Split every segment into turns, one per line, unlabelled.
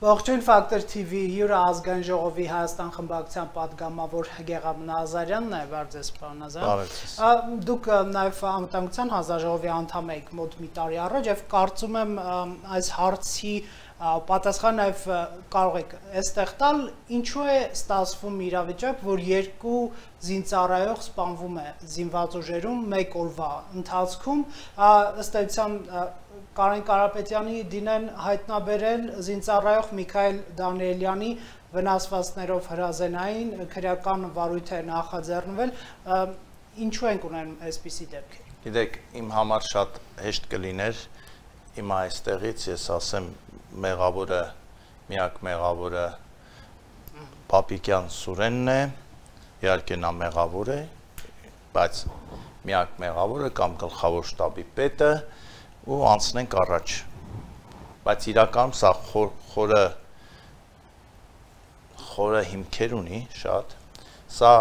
Ողջույն Factor TV հյուրը ազգային ժողովի Հայաստան խմբակցության պատգամավոր Գեղամ Նազարյանն է, բարև պարոն Նազարյան։ Դուք նաև անվտանգության հանձնաժողովի անդամ եք մոտ մի տարի առաջ եւ կարծում եմ այս հարցի պատասխան նաև կարող եք այստեղ տալ, ինչու է ստացվում իրավիճակ, որ երկու զինծառայող սպանվում է զինված ուժերում մեկ օրվա ընթացքում, ըստ էության Կարեն Կարապետյանի դինեն հայտնաբերել զինծառայող Միքայել Դանիելյանի վնասվածքներով հրազենային քրեական վարույթ է նախաձեռնվել, ինչու ենք ունենում այսպիսի դեպքեր։
Գիտեք, իմ համար շատ հեշտ կլիներ հիմա այստեղից ես ասեմ մեղավորը, միակ մեղավորը Պապիկյան Սուրենն է, իհարկե նա մեղավոր է, բայց միակ մեղավորը կամ գլխավոր շտաբի պետը ու անցնենք առաջ, բայց իրականում սա խորը հիմքեր ունի շատ, սա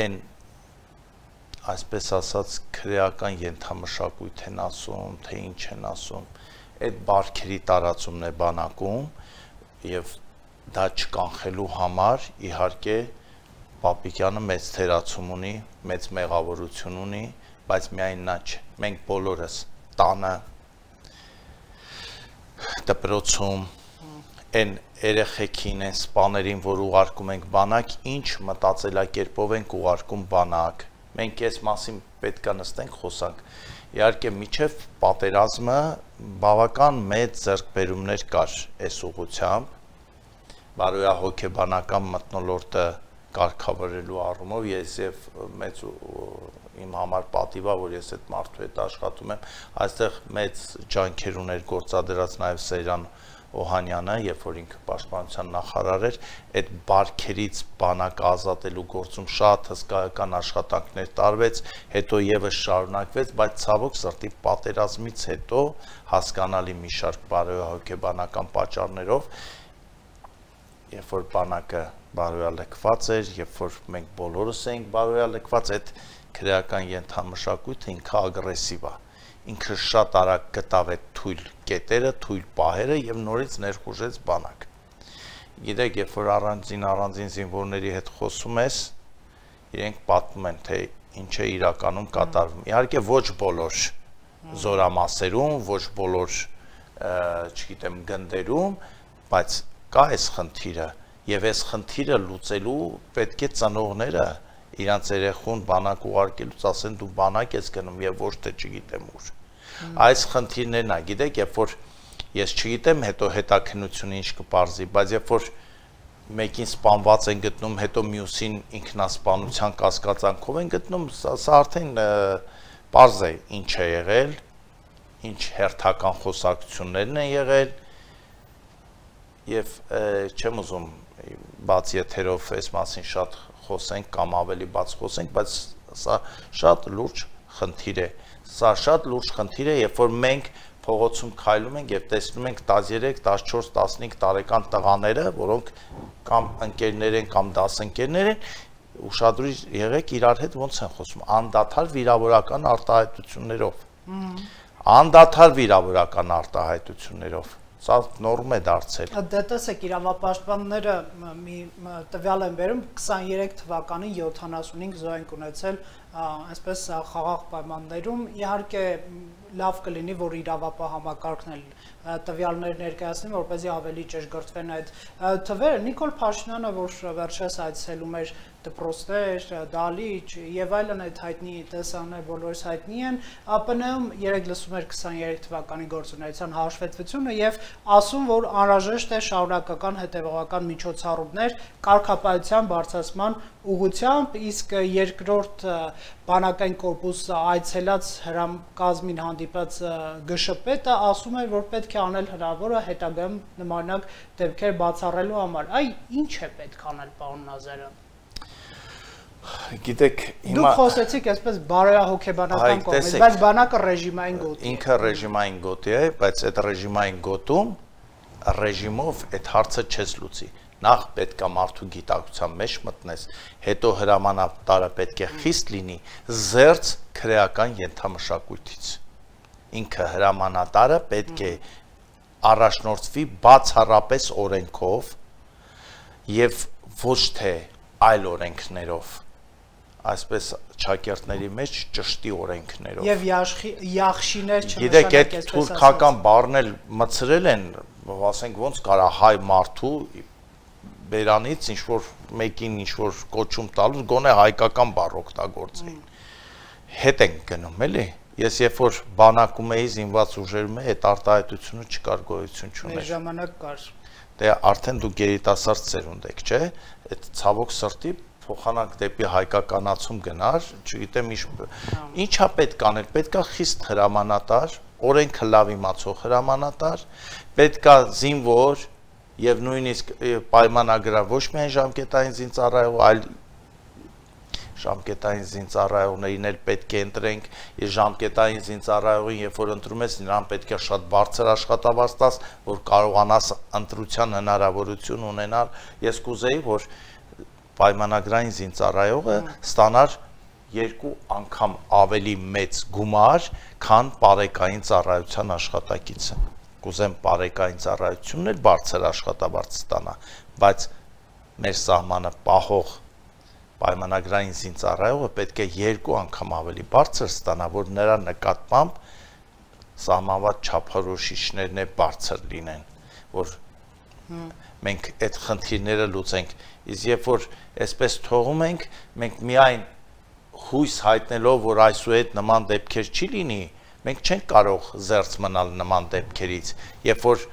են այսպես ասած քրեական ենթամշակույթ են ասում, թե ինչ են ասում, այդ բարքերի տարածումն է բանակում և դա չկանխելու համար իհարկե Պապիկյանը մեծ թերացում ունի, մեծ մեղավորություն ունի, բայց միայն նա չէ, մենք բոլորս տանը, դպրոցում, են երեխեքին, են սպաներին, որ ուղարկում ենք բանակ, ինչ մտածելակերպով ենք ուղարկում բանակ, մենք այս մասին պետք է նստենք խոսանք, իհարկե միջև պատերազմը բավական մեծ ձեռքբերումներ կար այս ուղղությամբ, բարոյահոգեբանական մթնոլորտը կարգավորելու առումով ես եւ մեծ իմ համար պատիվա, որ ես այդ մարդու հետ աշխատում եմ, այստեղ մեծ ջանքեր ուներ գործադրած նաև Սեյրան Օհանյանը, երբ որ ինքը պաշտպանության նախարար էր, այդ բարքերից բանակ ազատելու գործում շատ հսկայական աշխատանքներ տարվեց, հետո եւս շարունակվեց, բայց ցավոք սրտի պատերազմից հետո հասկանալի մի շարք բարոյահոգեբանական պատճառներով, երբ որ բանակը բարոյալքված էր, երբ որ մենք բոլորս էինք բարոյալքված, այդ քրեական ենթամշակույթը ինքը ագրեսիվ է, ինքը շատ արագ գտավ այդ թույլ կետերը, թույլ պահերը եւ նորից ներխուժեց բանակ։ Գիտեք, երբ որ առանձին զինվորների հետ խոսում ես, իրենք պատմում են, թե ինչ է իրականում կատարվում։ Իհարկե ոչ բոլոր զորամասերում, ոչ բոլոր, չգիտեմ, գնդերում, բայց կա այս խնդիրը եւ այս խնդիրը լուծելու պետք է ծնողները իրանց երեխուն բանակ ուղարկելուց ասեն դու բանակ ես գնում եւ ոչ թե չգիտեմ ուր։ Այս խնդիրներն է, գիտեք, երբ որ ես չգիտեմ, հետո հետաքննությունը ինչ կպարզի, բայց երբ որ մեկին սպանված են գտնում, հետո մյուսին ինքնասպանության կասկածանքով են գտնում, սա արդեն պարզ է ինչ է եղել, ինչ հերթական խոսակցություններն են եղել եւ չեմ ուզում բաց եթերով այս մասին շատ խոսենք կամ ավելի բաց խոսենք, բայց սա շատ լուրջ խնդիր է։ Սա շատ լուրջ խնդիր է, երբ որ մենք փողոցում քայլում ենք եւ տեսնում ենք 13, 14, 15 տարեկան տղաները, որոնք կամ ընկերներ են կամ դասընկերներ են, ուշադրույց եղեք իրար հետ ոնց են խոսում, անդադար վիրավորական արտահայտություններով։ Անդադար վիրավորական արտահայտություններով։ Սա նորմ է դարձել։
Դե տեսեք, իրավապաշտպանները մի տվյալ են բերում 23 թվականին 75 զոհ են ունեցել այսպես խաղաղ պայմաններում, իհարկե լավ կլինի, որ իրավապահ համակարգն էլ տվյալներ ներկայացնի, որպեսզի ավելի ճշգրտվեն այդ թվերը։ Նիկոլ Փաշինյանը, որ վերջերս այցելում էր դպրոցներ, դալիճ եւ այլն այդ հայտնի տեսաններ բոլորս հայտնի են, ԱՊՆ-ում երեք լսում էր 23 թվականի գործունեության հաշվետվությունը եւ ասում, որ անհրաժեշտ է շարունակական հետեւողական միջոցառումներ կարգապահության բարձրացման ուղղությամբ, իսկ երկրորդ բանակային կորպուսը այցելած հրամկազմին հանդիպած ԳՇՊ-ը ասում էր, որ պետք է անել հնարավորը հետագայում նմանակ դեպքեր բացառելու համար։ Այ ինչ է պետք անել, պարոն Նազարյան։
Գիտեք, հիմա
դուք խոսեցիք այսպես բարոյահոգեբանական կողմից, բայց բանակը ռեժիմային գոտի է։
Ինքը ռեժիմային գոտի է, բայց այդ ռեժիմային գոտում ռեժիմով այդ հարցը չես լուծի։ նախ պետք է մարդու գիտակցության մեջ մտնես, հետո հրամանատարը պետք է խիստ լինի զերծ քրեական ենթամշակույթից։ Ինքը հրամանատարը պետք է առաջնորդվի բացառապես օրենքով եւ ոչ թե այլ օրենքներով, այսպես Չակերտների մեջ ճշտի օրենքներով։
Եվ յախշիներ
Գիտեք, այդ թուրքական բառն էլ մցրել են, ասենք ոնց կարա հայ մարդու բերանից ինչ-որ մեկին ինչ-որ կոչում տալուց գոնե հայկական բառ օգտագործեին։ Հետ ենք գնում, էլի։ Ես երբ որ բանակում էի զինված ուժերում այդ արտահայտությունը չկար, գոյություն չուներ։
Մեր ժամանակ կար։
Դե արդեն դու գերիտասարդ ծերունդ եք, չէ՞։ Այդ ցավոք սրտի փոխանակ դեպի հայկականացում գնար, չգիտեմ ինչա պետք անել, պետքա խիստ հրամանատար, օրենքը լավ իմացող հրամանատար, պետքա զինվոր եւ նույնիսկ պայմանագրավ ոչ միայն ժամկետային զինծառայող, այլ ժամկետային զինծառայողներին էլ պետք է ընտրենք, եւ ժամկետային զինծառայողին, երբ որ ընտրում ես, նրան պետք է շատ բարձր աշխատավարձ տաս, որ կարողանաս ընտրության հնարավորություն ունենալ։ Ես կուզեի, որ պայմանագրային զինծառայողը ստանար 2 անգամ ավելի մեծ գումար, քան պարեկային ծառայության աշխատակիցը։ Կուզեմ պարեկային ծառայությունն էլ բարձր աշխատավարձ ստանա, բայց մեր սահմանը պահող պայմանագրային զինծառայողը պետք է 2 անգամ ավելի բարձր ստանա, որ նրա նկատմամբ սահմանված չափորոշիչներն է բարձր լինեն, որ մենք այդ խնդիրները լուծենք։ Իսկ երբ որ այսպես թողում ենք, մենք միայն հույս հայտնելով, որ այսուհետ նման դեպքեր չի լինի, մենք չենք կարող զերծ մնալ նման դեպքերից, երբ որ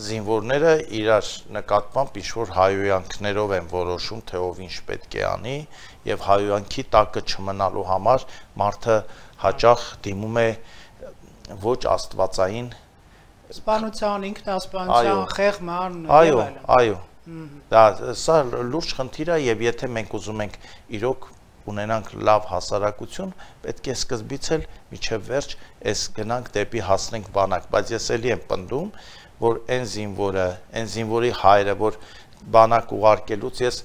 զինվորները իրար նկատմամբ ինչ-որ հայոյանքներով են որոշում, թե ով ինչ պետք է անի, եւ հայոյանքի տակը չմնալու համար մարդը հաճախ դիմում է ոչ աստվածային
սպանության, ինքնասպանության, խեղման,
այո, դա սա լուրջ խնդիր է եւ եթե մենք ուզում ենք իրոք ունենանք լավ հասարակություն, պետք է սկզբից էլ միջև վերջ այս գնանք դեպի հասնենք բանակ, բայց ես էլի եմ պնդում, որ այն զինվորի հայրը, որ բանակ ուղարկելուց ես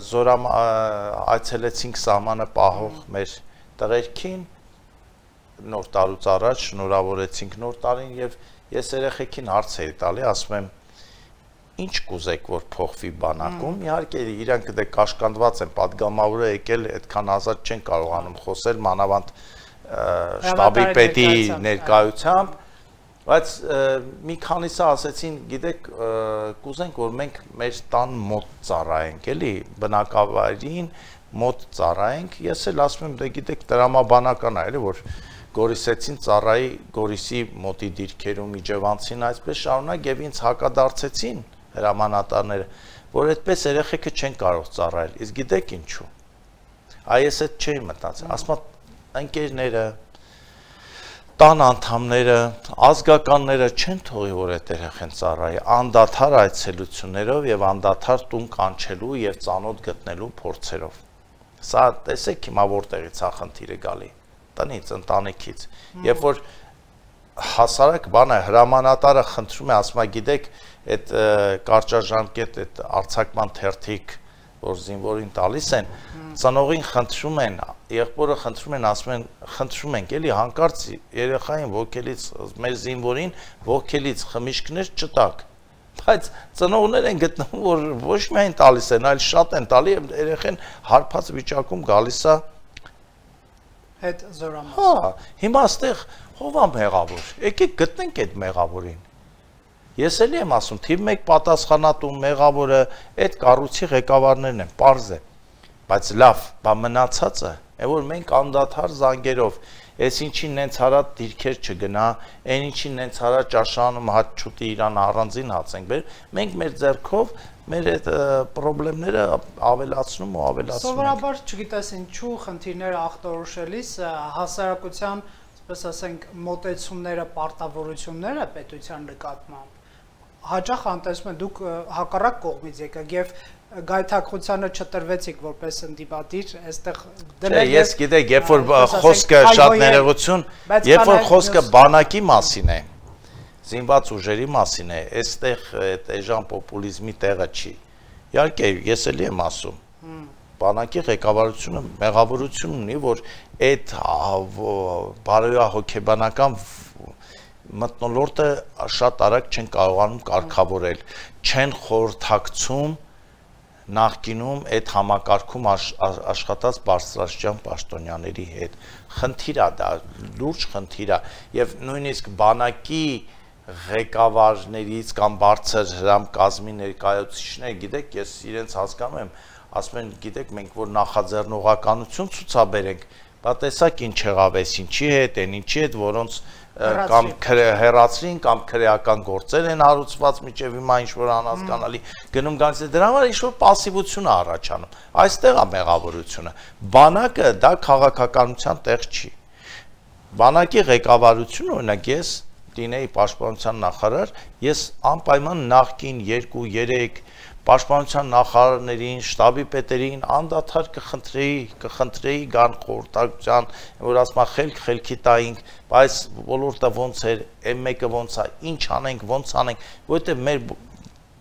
զորամ այցելեցինք սահմանը պահող մեր տղերքին, նոր տարուց առաջ շնորհավորեցինք նոր տարին եւ ես երեխեքին հարց էի տալի, ասում եմ ինչ կուզեք որ փոխվի բանակում, իհարկե իրանք դե կաշկանդված են, падգամավորը եկել այդքան ազատ չեն կարողանում խոսել մանավանդ շտաբի պետի ներկայությամբ, բայց մի քանիսը ասեցին, գիտեք, կուզենք որ մենք մեր տան մոտ ծառայենք, էլի բնակավայրին մոտ ծառայենք, ես էլ ասում եմ, դե գիտեք, տրամաբանական է, էլի որ Գորիսեցին ծառայի Գորիսի մոտի դիրքերում իջևանցին այսպես շարունակ եւ ինձ հակադարձեցին հրամանատարները, որ այդպես երեխեքը չեն կարող ծառայել, իսկ գիտեք ինչու։ Այս այդ չէի մտածել, ասում ընկերները, տան անդամները, ազգականները չեն թողի որ այդ երեխեն ծառայի, անդադար այցելություններով եւ անդադար տուն կանչելու եւ ծանոթ գտնելու փորձերով։ Սա տեսեք հիմա որտեղից է խնդիրը գալի, տնից, ընտանիքից։ Երբ որ հասարակ բան է, հրամանատարը խնդրում է, ասում է, գիտեք, այդ կարճաժամկետ այդ արձակման թերթիկ, որ զինվորին տալիս են, ծնողին խնդրում են, եղբորը խնդրում են, ասում են, խնդրում ենք, էլի հանկարծ երեխային ոգելից, մեր զինվորին ոգելից խմիչքներ չտակ, բայց ծնողներ են գտնում, որ ոչ միայն տալիս են, այլ շատ են տալի, երեխեն հարբած վիճակում գալիս է
հետ զորամաս։
Հա, հիմա այստեղ ով է մեղավոր, եկեք գտնենք այդ մեղավորին։ Ես էլի եմ ասում, թիվ 1 պատասխանատու մեղավորը այդ կառույցի ղեկավարներն են, պարզ է, բայց լավ, բա մնացածը, որ մենք անդադար զանգերով, այս ինչին նենց հարա դիրքեր չգնա, այն ինչին նենց հարա ճաշանում հաց չուտի իրան առանձին հաց ենք բերում, մենք մեր ձեռքով մեր այդ խնդիրները ավելացնում ու ավելացնում ենք։
Սովորաբար չգիտես ինչու խնդիրները ախտորոշելիս հասարակության, ասես ասենք, մոտեցումները, պարտավորությունները պետության նկատմամբ հաճախ անտեսում են դուք հակառակ կողմից եկաք եւ գայթակղությանը չտրվեցիք որպես ընդդիմադիր, այստեղ
դրել ես գիտեք, երբ որ խոսքը շատ ներողություն, երբ որ խոսքը բանակի մասին է, զինված ուժերի մասին է, այստեղ այդ էժան պոպուլիզմի տեղը չի։ Իհարկե, ես էլի եմ ասում, բանակի ղեկավարությունը մեղավորություն ունի, որ այդ բարոյահոգեբանական մթնոլորտը շատ արագ չեն կարողանում կարգավորել, չեն խորհրդակցում նախկինում այդ համակարգում աշխատած բարձրաստիճան պաշտոնյաների հետ։ Խնդիր է դա, լուրջ խնդիր է, եւ նույնիսկ բանակի ղեկավարներից կամ բարձր հրամկազմի ներկայացուցիչներ, գիտեք, ես իրենց հասկանում եմ, ասում են, գիտեք, մենք որ նախաձեռնողականություն ցուցաբերենք, բա տեսակ ինչ եղավ էս ինչի հետ, այն ինչի հետ, որոնց կամ հերացրին կամ քրեական գործեր են հարուցված միջև հիմա ինչ-որ անհասկանալի գնում գալիս է, դրա համար ինչ-որ պասիվություն է առաջանում, այստեղ է մեղավորությունը, բանակը դա քաղաքականության տեղ չի, բանակի ղեկավարությունը, օրինակ ես լինեի պաշտպանության նախարար, ես անպայման նախկին 2-3 պաշտպանության նախարարներին, շտաբի պետերին անդադար կխնդրեի գան խորհրդակցության, որ ասма խելքի տայինք, բայց ոլորտը ոնց էր, M1-ը ոնց է, ինչ անենք, ոնց անենք, որովհետև մեր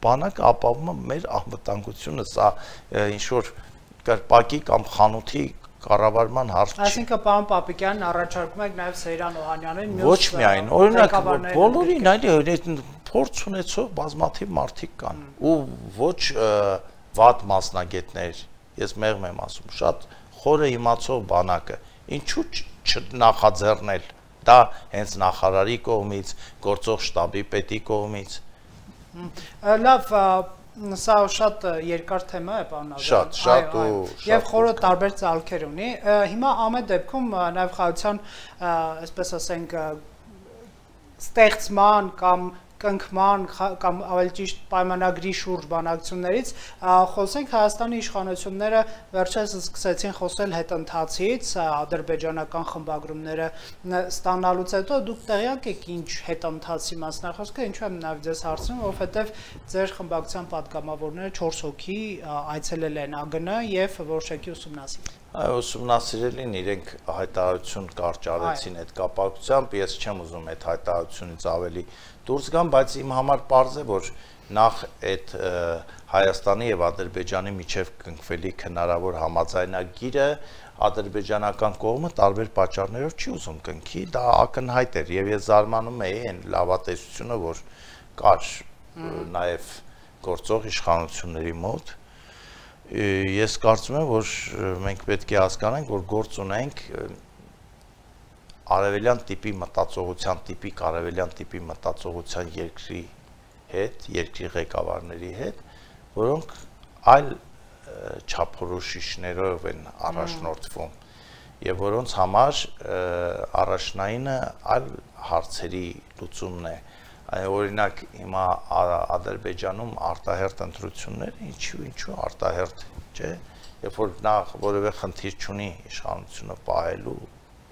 բանակը ապահովում է մեր անվտանգությունը, սա ինչ որ կրպակի կամ խանութի կառավարման հարց չի։
Այսինքն պարոն Պապիկյանն առաջարկում եք նաև Սեյրան Օհանյանին,
ոչ միայն, օրինակ բոլորին այլ փորձ ունեցող բազմաթիվ մարդիկ կան ու ոչ վատ մասնագետներ, ես մեղմ եմ ասում, շատ խորը իմացող բանակը, ինչու չնախաձեռնել դա հենց նախարարի կողմից, գործող շտաբի պետի կողմից։
Լավ, սա շատ երկար թեմա է, պարոն Աբրահամյան։
Շատ ու
եւ խորը տարբեր ցալքեր ունի։ Հիմա ամեն դեպքում նաև խաղաղության, այսպես ասենք, ստեղծման կամ կնքման կամ ավելի ճիշտ պայմանագրի շուրջ բանակցություններից խոսենք Հայաստանի իշխանությունները վերջերս սկսեցին խոսել հետընթացից ադրբեջանական խմբագրումները ստանալուց հետո դուք տեղյակ եք ինչ հետընթացի մասնախոսքը ինչու եմ նաև ձեզ հարցնում որովհետև ձեր խմբակցության պատգամավորները 4 հոգի այցելել են ԱԳՆ եւ որոշակի ուսումնասիրել
Այո, ուսումնասիրելին իրենք հայտարարություն կարճ արեցին այդ կապակցությամբ, ես չեմ ուզում այդ հայտարարությունից ավելի դուրս գամ, բայց իմ համար պարզ է, որ նախ այդ Հայաստանի եւ Ադրբեջանի միջև կնքվելիք հնարավոր համաձայնագիրը ադրբեջանական կողմը տարբեր պատճառներով չի ուզում կնքի, դա ակնհայտ էր եւ ես զարմանում էի այն լավատեսությունը, որ կար նաեւ գործող իշխանությունների մոտ Ես կարծում եմ, որ մենք պետք է հասկանանք, որ գործ ունենք արևելյան տիպի մտածողության, տիպիկ արևելյան տիպի մտածողության երկրի հետ, երկրի ղեկավարների հետ, որոնք այլ չափորոշիչներով են առաջնորդվում եւ որոնց համար առաջնայինը այլ հարցերի լուծումն է Օրինակ հիմա Ադրբեջանում արտահերթ ընտրություններ, ինչու արտահերթ, չէ, երբ որ նա որևէ խնդիր չունի իշխանությունը պահելու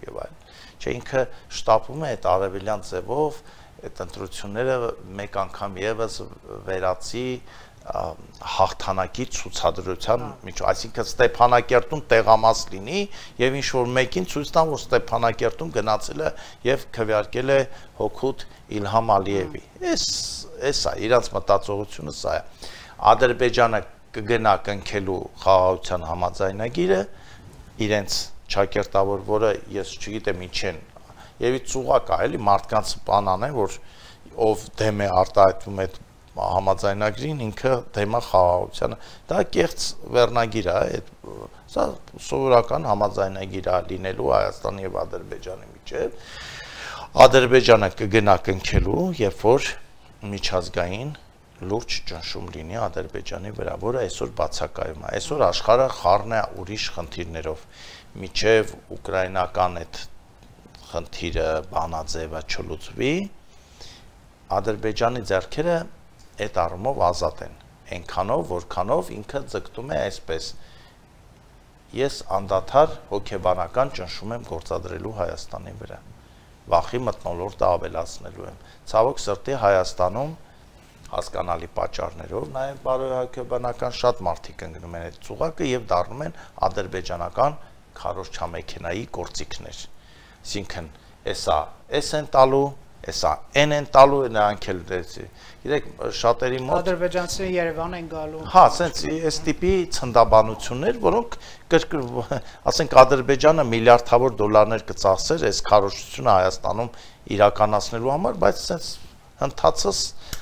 եւ այլն։ Չէ, ինքը շտապում է այդ արևելյան ձևով այդ ընտրությունները մեկ անգամ եւս վերացի հաղթանակի ցուցադրության միջով, այսինքն Ստեփանակերտում տեղամաս լինի եւ ինչ որ մեկին ցույց տան, որ Ստեփանակերտում գնացել է եւ քվեարկել է հոգուտ Իլհամ Ալիևի։ Էս է, իրանց մտածողությունը սա է։ Ադրբեջանը կգնա կնքելու խաղաղության համաձայնագիրը, իրենց ճակերտավոր, որը ես չգիտեմ ինչ են, եւ ծուղակ է, էլի մարդկանց բանան է, որ ով դեմ է արտահայտվում այդ համաձայնագրին ինքը թեմա խաղաղությանը դա կեղծ վերնագիր է սա սովորական համաձայնագիր է լինելու Հայաստանի եւ Ադրբեջանի միջեւ Ադրբեջանը կգնա կնքելու երբ որ միջազգային լուրջ ճնշում լինի Ադրբեջանի վրա որը այսօր բացակայում է այսօր աշխարհը խառն է ուրիշ խնդիրներով միջև ուկրաինական այդ խնդիրը բանաձևը չլուծվի Ադրբեջանի ձեռքերը այդ առումով ազատ են, այնքանով, որքանով ինքը ձգտում է այսպես, ես անդադար հոգեբանական ճնշում եմ գործադրելու Հայաստանի վրա, վախի մթնոլորտը ավելացնելու եմ, ցավոք սրտի Հայաստանում հասկանալի պատճառներով, նաև բարոյահոգեբանական շատ մարդիկ ընկնում են այդ ծուղակը և դառնում են ադրբեջանական քարոզչամեքենայի գործիքներ, այսինքն, էս են տալու, Էսա են տալու նրանք էլ դեցի։ Գիտեք, շատերի մոտ
ադրբեջանցիները Երևան են գալու։
Հա, ասենց այս տիպի ցնդաբանություններ, որոնք ասենք Ադրբեջանը միլիարդավոր դոլարներ կծախսեր այս քարոզությունը Հայաստանում իրականացնելու համար, բայց ասենց ընթացս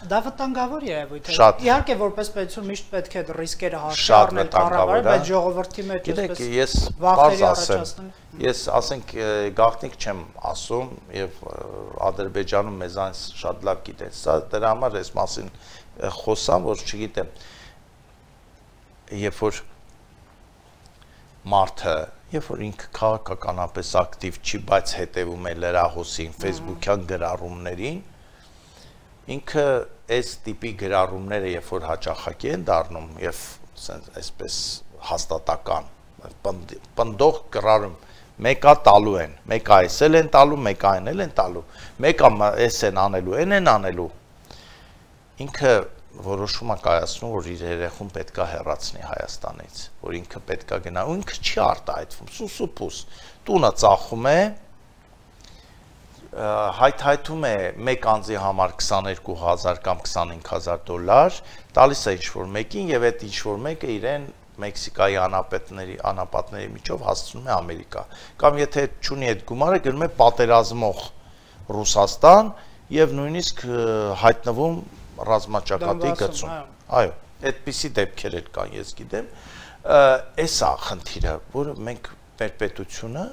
դա վտանգավոր երևույթ է։
Շատ։
Իհարկե որպես պետություն միշտ պետք է ռիսկերը հաշվի
Շատ
առնել
վտանգավոր է,
բայց ժողովրդի մեջ
Գիտեք,
այսպես
ես
վախերի
պարզ ասեմ,
առաջացնել։
ես ասենք գաղտնիք չեմ ասում եւ Ադրբեջանում մեզանից շատ լավ գիտեն։ Սա դրա համար այս մասին խոսամ, որ չգիտեմ, երբ որ մարդը, երբ որ ինքը քաղաքականապես ակտիվ չի, բայց հետևում է լրահոսին, Facebook-յան գրառումներին, ինքը այս տիպի գրառումները, երբ որ հաճախակի են դառնում եւ այսպես հաստատական պնդող գրառում, մեկը տալու են, մեկը այսել են տալու, մեկը այնել են տալու, մեկը էս են անելու, են անելու, ինքը որոշում է կայացնում, որ իր երեխուն պետքա հեռացնի Հայաստանից, որ ինքը պետքա գնա, ու ինքը չի արտահայտվում, սուսուփուս, տունը ծախում է, հայթայթում է մեկ անձի համար 22,000 կամ 25,000 դոլար, տալիս է ինչ-որ մեկին եւ այդ ինչ-որ մեկը իրեն Մեքսիկայի անապատների միջով հասցնում է Ամերիկա, կամ եթե չունի այդ գումարը գնում է պատերազմող Ռուսաստան եւ նույնիսկ հայտնվում ռազմաճակատի գծում, այո, այդպիսի դեպքեր էլ կան, ես գիտեմ, էսա խնդիրը, որը մենք մեր պետությունը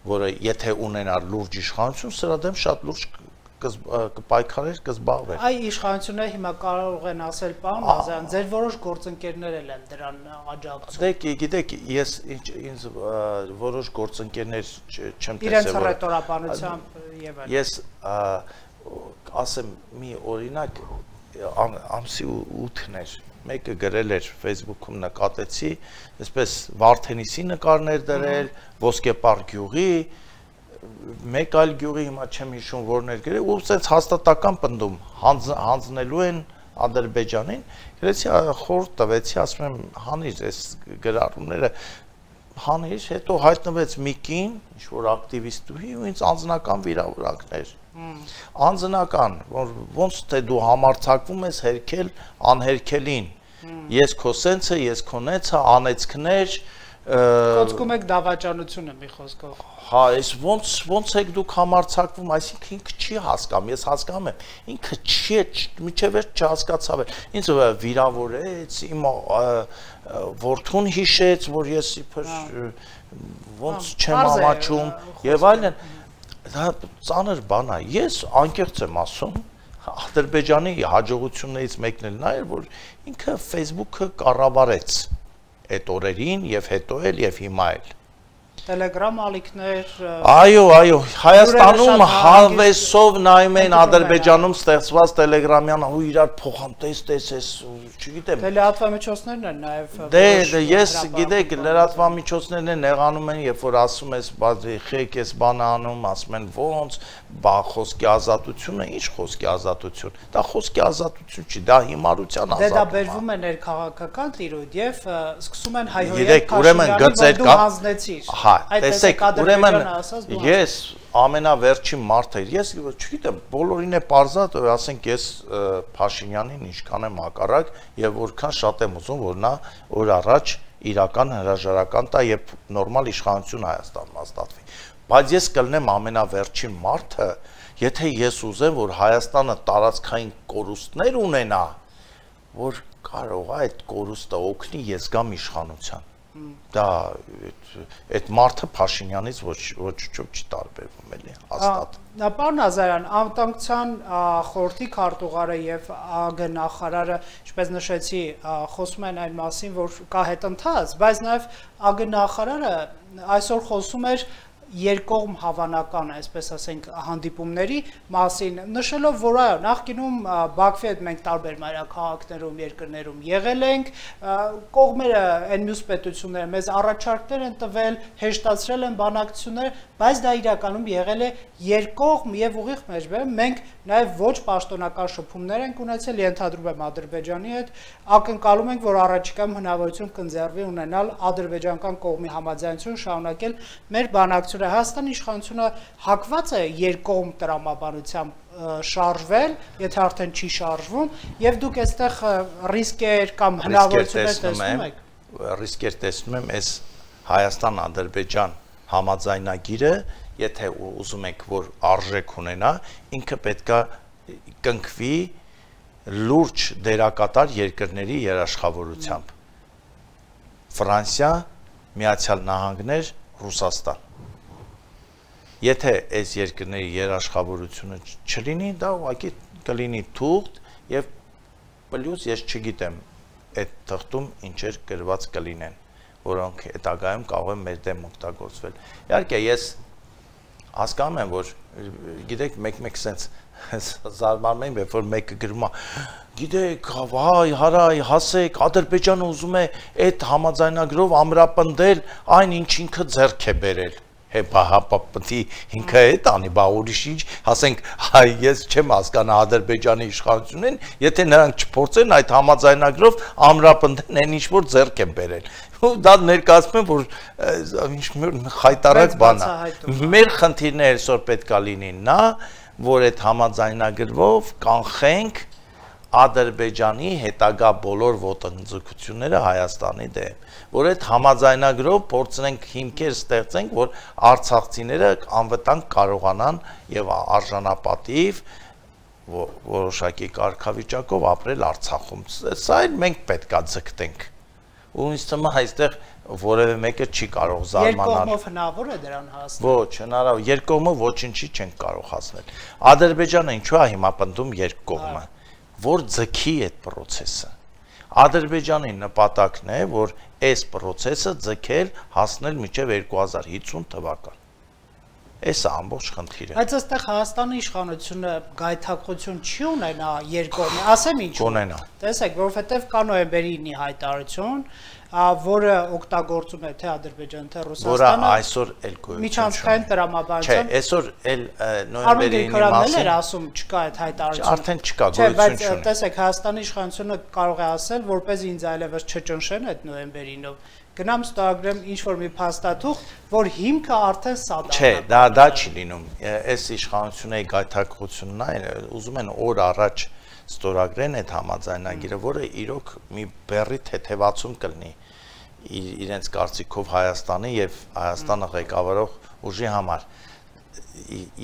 որը եթե ունենար լուրջ իշխանություն, սրա դեմ շատ լուրջ կպայքարեր, կզբաղվեր։
Այ իշխանությունները հիմա կարող են ասել, պարոն Ազարյան, ձեր որոշ գործընկերներ են դրան աջակցում։
Դե գիտեք, ես ինձ որոշ գործընկերներ չեմ տեսել,
իրենց ռետորաբանությամբ եւ այլն։
Ես ասեմ մի օրինակ ամսի 8-ն էր մեկը գրել էր Facebook-ում նկատեցի, այսպես Վարդենիսի նկարներ դրել, Ոսկեպար գյուղի, մեկ այլ գյուղի հիմա չեմ հիշում որն էր գրել, ու ասենց հաստատական պնդում հանձնելու են Ադրբեջանին, գրեցի խորհուրդ տվեցի, ասում եմ հանիր այս գրառումները, հանիր, հետո հայտնվեց մի կին, ինչ-որ ակտիվիստուհի ու ինձ անձնական վիրավորակներ։ Անձնական, որ ոնց թե դու համարձակվում ես հերքել անհերքելին, ես քո սենցը, ես քո նեցը, անեցքներ,
կոծկում եք դավաճանությունը մի խոսքով։
Հա, այս ոնց եք դուք համարձակվում, այսինքն ինքը չի հասկանում, ես հասկանում եմ, ինքը չի, միջև չհասկացավ էր, ինձ վիրավորեց, իմ որդուն հիշեց, որ ես իբր ոնց չեմ ամաչում եւ այլն, դա ծանր բան է, ես անկեղծ եմ ասում, Ադրբեջանի հաջողություններից մեկն էլ նա էր, որ ինքը Facebook-ը կառավարեց այդ օրերին եւ հետո էլ եւ հիմա էլ
Տելեգրամ ալիքներ
Այո, Հայաստանում հավեսով նայում են Ադրբեջանում ստեղծված տելեգրամյան ու իրար փոխանտես տեսես, չգիտեմ։
Դե լրատվամիջոցներն են նաև
Դե ես գիտեք, լրատվամիջոցներն են եղանում են, երբ որ ասում ես, խեք ես բանը անում, ասում են ոնց, բա խոսքի ազատությունը, ինչ խոսքի ազատություն։ Դա խոսքի ազատություն չի, դա հիմարության ազատություն։
Դե դա բերվում է ներքաղաքական տիրույթ եւ սկսում են հայհոյել
Գիտեք, ուրեմն գծեր կա։ Հա, տեսեք, ուրեմն ես ամենավերջին մարդը, ես չգիտեմ, բոլորին է պարզած, ասենք ես Փաշինյանին ինչքան եմ հակառակ եւ որքան շատ եմ ուզում, որ նա օր առաջ իրական հրաժարական տա եւ նորմալ իշխանություն Հայաստանում հաստատվի։ Բայց ես կլնեմ ամենավերջին մարդը, եթե ես ուզեմ, որ Հայաստանը տարածքային կորուստներ ունենա, որ կարող է այդ կորուստը օգնի ես գամ իշխանության։ Դա այդ մարդը Փաշինյանից ոչ չի տարբերվում էլի հաստատ։
Պարոն Ազարյան, անվտանգության խորհրդի քարտուղարը եւ ԱԳ նախարարը, ինչպես նշեցի, խոսում են այն մասին, որ կա հետընթաց, բայց նաեւ ԱԳ նախարարը այսօր խոսում էր երկկողմ հավանական, այսպես ասենք, հանդիպումների մասին, նշելով, որ այո, նախկինում Բաքվի հետ մենք տարբեր մայրաքաղաքներում, երկրներում եղել ենք, կողմերը այն մյուս պետությունները մեզ առաջարկներ են տվել, հեշտացրել են բանակցությունները, բայց դա իրականում եղել է երկկողմ եւ ուղիղ մեջբերում, մենք նաեւ ոչ պաշտոնական շփումներ ենք ունեցել, ենթադրում եմ Ադրբեջանի հետ, ակնկալում ենք, որ առաջիկայում հնարավորություն կընձեռվի ունենալ ադրբեջանական կողմի համաձայնություն շարունակել մեր բանակցությունները իշխանությունը, Հայաստանի իշխանությունը հակված է երկկողմ տրամաբանությամբ շարժվել, եթե արդեն չի շարժվում, եւ դուք այստեղ ռիսկեր կամ հնարավորություններ տեսնում եք։
Ռիսկեր տեսնում եմ այս Հայաստան-Ադրբեջան համաձայնագիրը, եթե ուզում եք, որ արժեք ունենա, ինքը պետքա կնքվի լուրջ դերակատար երկրների երաշխավորությամբ։ Ֆրանսիա, Միացյալ Նահանգներ, Ռուսաստան։ Եթե այս երկրների երաշխավորությունը չլինի, դա ուղղակի կլինի թուղթ եւ պլյուս ես չգիտեմ այդ թղթում ինչեր գրված կլինեն, որոնք հետագայում կարող են մեր դեմ օգտագործվել։ Իհարկե ես հասկանում եմ, որ գիտեք, մեկ-մեկ sense զարմանում եմ, երբ որ մեկը գրում է, գիտեք, հայ, հարայ, հասեք, Ադրբեջանը ուզում է այդ համաձայնագրով ամրապնդել այն ինչ ինքը ձեռք է բերել։ Հապապտի ինքը է տանի, բա ուրիշ ինչ, ասենք, հայ, ես չեմ հասկանում Ադրբեջանի իշխանությունին, եթե նրանք չփորձեն այդ համաձայնագրով ամրապնդեն այն ինչ որ ձեռք են բերել։ Ու դա ներկայացնում եմ, որ ինչ խայտարակ բան է։ Մեր խնդիրները այսօր պետքա լինի նա, որ այդ համաձայնագրով կանխենք Ադրբեջանի հետագա բոլոր ոտնձգությունները Հայաստանի դեմ, որ այդ համաձայնագրով փորձենք հիմքեր ստեղծենք, որ արցախցիները անվտանգ կարողանան եւ արժանապատիվ որոշակի կարգավիճակով ապրել Արցախում։ Սա էլ մենք պետքա ձգտենք։ Ու ինձ թվում է այստեղ որևէ մեկը չի կարող զարմանալ։
Երկկողմով հնարավոր է դրան հասնել։
Ոչ, հնարավոր, երկկողմով ոչինչի չեն կարող հասնել։ Ադրբեջանը ինչու է հիմա պնդում երկկողմը, որ ձգի այդ process-ը։ Ադրբեջանի նպատակն է, որ այս process-ը ձգել հասնել մինչև 2050 թվական։ Այս է ամբողջ խնդիրը։
Բայց այստեղ Հայաստանի իշխանությունը գայթակղություն չի ունենա երկկողմի, ասեմ ինչ
ունենա։
Տեսեք, որովհետև կա նոյեմբերի 9-ի հայտարարություն, որը օգտագործում է թե Ադրբեջանը, թե Ռուսաստանը,
որը այսօր էլ գոյություն
միջանցքային տրամաբանությամբ։
Չէ, այսօր էլ նոյեմբերի 9-ի մասին
ասում չկա այդ հայտարարությունը։
Արդեն չկա, գոյություն չունի։
Բայց տեսեք, Հայաստանի իշխանությունը կարող է ասել, որպես ինձ այլևս չճնշեն այդ նոյեմբերի 9-ով։ Գնամ ստորագրեմ ինչ-որ մի փաստաթուղթ, որ հիմքը արդեն սա դա։
Չէ, դա չի լինում։ Այս իշխանությունների գայթակղությունն է, ուզում են օր առաջ ստորագրեն այդ համաձայնագիրը, որը իրոք մի բեռի թեթևացում կլինի իրենց կարծիքով Հայաստանի եւ Հայաստանը ղեկավարող ուժի համար։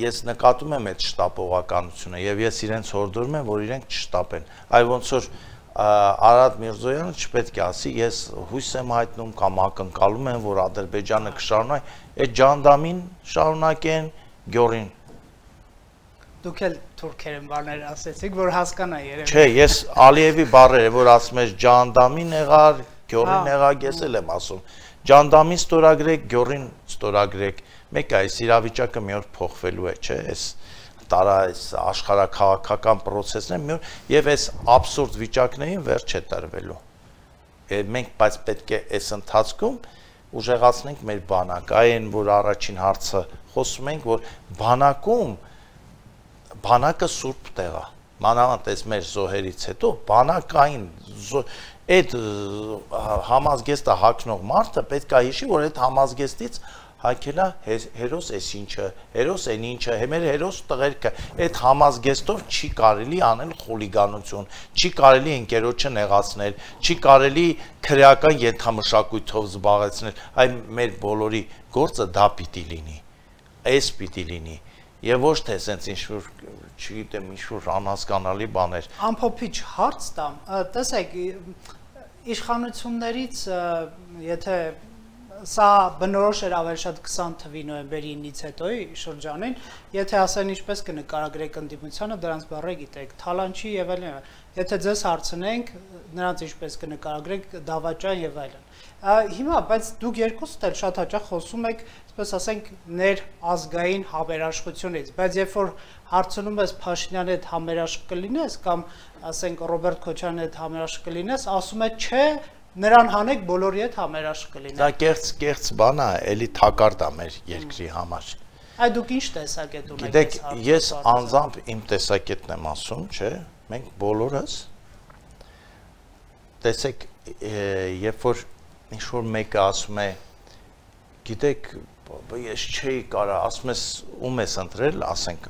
Ես նկատում եմ այդ շտապողականությունը եւ ես իրենց հորդորում եմ, որ իրենք չշտապեն։ Այլ ոնց որ Արադ Միրզոյանը չպետք է ասի, ես հույս եմ հայտնում կամ ակնկալում եմ, որ Ադրբեջանը կշարունակի, այդ ջանդամին շարունակեն Գյորին։
Դուք էլ թուրքերեն բառներ ասեցիք, որ հասկանա երևի։
Չէ, ես Ալիևի բառերը, որ ասում ես ջանդամին եղար, Գյորին եղար, ես էլ եմ ասում։ Ջանդամին ստորագրեք, Գյորին ստորագրեք։ Մեկ այս իրավիճակը մի օր փոխվելու է, չէ՞, այս տարա այս աշխարհաքաղաքական process-ն է եւ այս абսուրդ վիճակներին վերջ է տրվելու։ Մենք բայց պետք է այս ընթացքում ուժեղացնենք մեր բանակ, այն որ առաջին հարցը խոսում ենք, որ բանակը սուրբ տեղ է։ Մանավանդ այս մեր զոհերից հետո բանակային այդ համազգեստը հագնող մարդը պետք է հիշի, որ այդ համազգեստից հայքելա հերոս էս ինչը, հերոս են ինչը, մեր հերոս տղերքը, այդ համազգեստով չի կարելի անել խուլիգանություն, չի կարելի ընկերոջը նեղացնել, չի կարելի քրեական ենթամշակույթով զբաղեցնել, այ մեր բոլորի գործը դա պիտի լինի, այս պիտի լինի, եւ ոչ թե սենց ինչ-որ, չգիտեմ, ինչ-որ անհասկանալի բաներ։
Ամփոփիչ հարց տամ, տեսեք, իշխանություններից, եթե սա բնորոշ էր ավելի շատ 20 թվականի նոյեմբերի 9-ից հետոյի շրջանին, եթե ասեն ինչպես կնկարագրեք ընդդիմությանը, դրանց բառը գիտեք, թալանչի եւ այլն, եթե ձեզ հարցնենք, նրանց ինչպես կնկարագրեք, դավաճան եւ այլն։ Հիմա, բայց դուք երկուսդ էլ շատ հաճախ խոսում եք, այսպես ասենք, ներազգային համերաշխությունից, բայց երբ որ հարցնում ես Փաշինյանի հետ համերաշխ կլինես կամ ասենք Ռոբերտ Քոչարյանի հետ համերաշխ կլինես, ասում է չէ, նրան հանեք բոլորի հետ համերաշխ կլինեն։
Դա կեղծ բան է, էլի թակարդ է մեր երկրի համար։
Այդ դուք ինչ տեսակետ ունեք։
Գիտեք, ես անձամբ իմ տեսակետն եմ ասում, չէ՞, մենք բոլորս տեսեք, երբ որ ինչ-որ մեկը ասում է, գիտեք, ես չէի կարա, ասում ես ում ես ընտրել, ասենք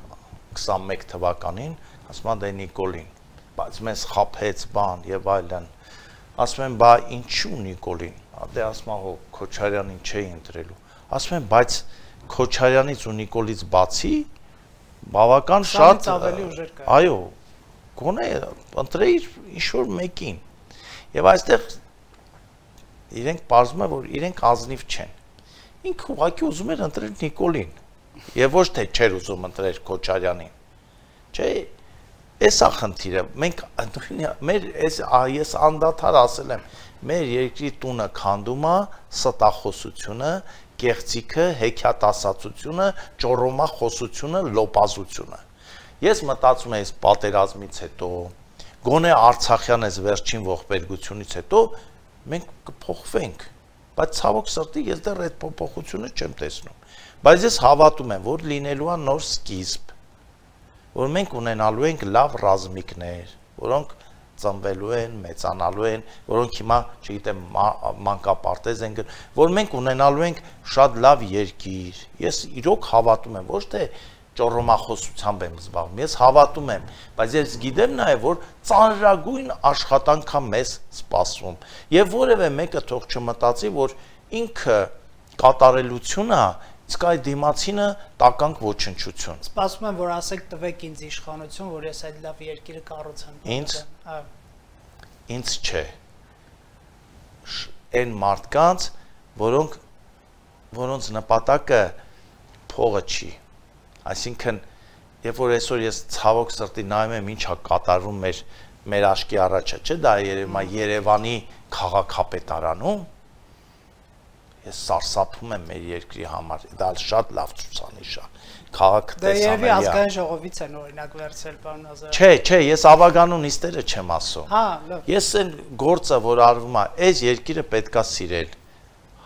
21 թվականին, ասում եմ դե Նիկոլին, բայց մեզ խափեց բան եւ այլն։ Ասում եմ, բա ինչու Նիկոլին, դե ասում եմ, հո Քոչարյանին չէի ընտրելու։ Ասում եմ, բայց Քոչարյանից ու Նիկոլից բացի բավական շատ
ավելի ուժեր կա։
Այո, գոնե ընտրեիր ինչ-որ մեկին։ Եվ այստեղ իրենք պարզվում է, որ իրենք ազնիվ չեն։ Ինքը ուղղակի ուզում էր ընտրել Նիկոլին, եւ ոչ թե չէր ուզում ընտրել Քոչարյանին։ Չէ, էսա խնդիրը։ Մենք ես անդադար ասել եմ, մեր երկրի տունը քանդում է ստախոսությունը, կեղծիքը, հեքիաթասացությունը, ճոռոմախոսությունը, լոպազությունը։ Ես մտածում եմ, այս պատերազմից հետո, գոնե Արցախյան այս վերջին ողբերգությունից հետո մենք կփոխվենք, բայց ցավոք սրտի ես դեռ այդ փոփոխությունը չեմ տեսնում։ Բայց ես հավատում եմ, որ լինելու է նոր սկիզբ, որ մենք ունենալու ենք լավ ռազմիկներ, որոնք ծնվելու են, մեծանալու են, որոնք հիմա, չգիտեմ, մանկապարտեզ են գնում, որ մենք ունենալու ենք շատ լավ երկիր։ Ես իրոք հավատում եմ, ոչ թե ճոռոմախոսությամբ եմ զբաղվում, ես հավատում եմ, բայց ես գիտեմ նաև, որ ծանրագույն աշխատանք է մեզ սպասվում, եւ որևէ մեկը թող չմտածի, որ ինքը կատարելություն է, իսկ այդ դիմացինը տականք ոչնչություն։
Սպասում եմ, որ ասեք տվեք ինձ իշխանություն, որ ես այդ լավ երկիրը կառուցեմ։
Ինձ չէ։ Այն մարդկանց, որոնց նպատակը փողը չի։ Այսինքն, երբ որ այսօր ես ցավոք սրտի նայում եմ ինչա կատարվում մեր աշկի առաջը, չէ՞ դա Երևանի քաղաքապետարանում, ես սարսափում եմ մեր երկրի համար, դա շատ լավ ցուցանիշ է։ Քաղաքը տեսանելի է։
Դե երևի ազգային ժողովից են օրինակ վերցրել, պարոն Ազարյան։
Չէ, ես ավագանու նիստերը չեմ ասում։
Հա, լավ։
Ես այն գործը, որ արվում է, այս երկիրը պետքա սիրել։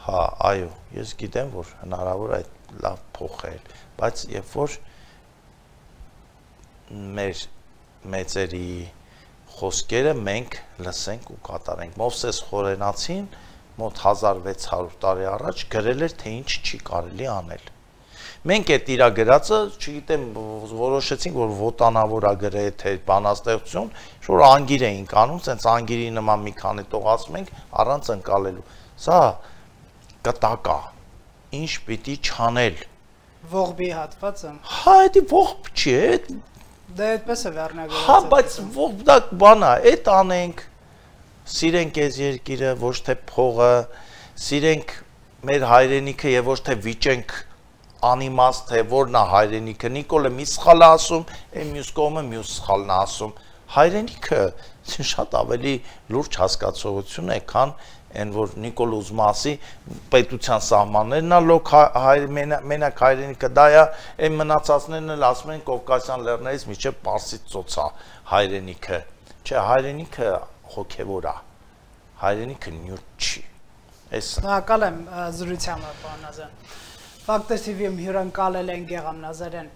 Հա, այո, ես գիտեմ, որ հնարավոր է այդ լավ փոխել, բայց երբ որ մեր մեծերի խոսքերը մենք լսենք ու կատարենք։ Մովսես Խորենացին մոտ 1600 տարի առաջ գրել էր, թե ինչ չի կարելի անել։ Մենք այդ իրա գրածը, չգիտեմ, որոշեցինք, որ ոտանավոր է գրել, թե բանաստեղծություն, որ անգիր էինք անում, սենց անգիրի նման մի քանի տող ասում ենք, առանց ընկալելու։ Սա կտակ է, ինչ պիտի չանել։
Ողբի հատվածը։
Հա, դա ողբ չի,
Դե այդպես է վերնագրված։
Հա, բայց ողբ դա բան է, այդ անենք, սիրենք այս երկիրը, ոչ թե փողը, սիրենք մեր հայրենիքը եւ ոչ թե վիճենք անիմաստ, թե որն է հայրենիքը։ Նիկոլը մի սխալ է ասում, այն մյուս կողմը մյուս սխալն է ասում։ Հայրենիքը շատ ավելի լուրջ հասկացողություն է, քան այն որ Նիկոլ ուզում ասի պետության սահմաններն է լոկ մենակ հայրենիքը դա է, այն մնացածներն էլ ասում են Կովկասյան լեռներից մինչև Պարսից ծոցա հայրենիքը։ Չէ, հայրենիքը հոգևոր է, հայրենիքը նյութ չի։
Շնորհակալ եմ զրույցյանը, պարոն Ազարյան։ Ֆակտոր TV-ում հյուրընկալել են Գեգամ Նազարյան։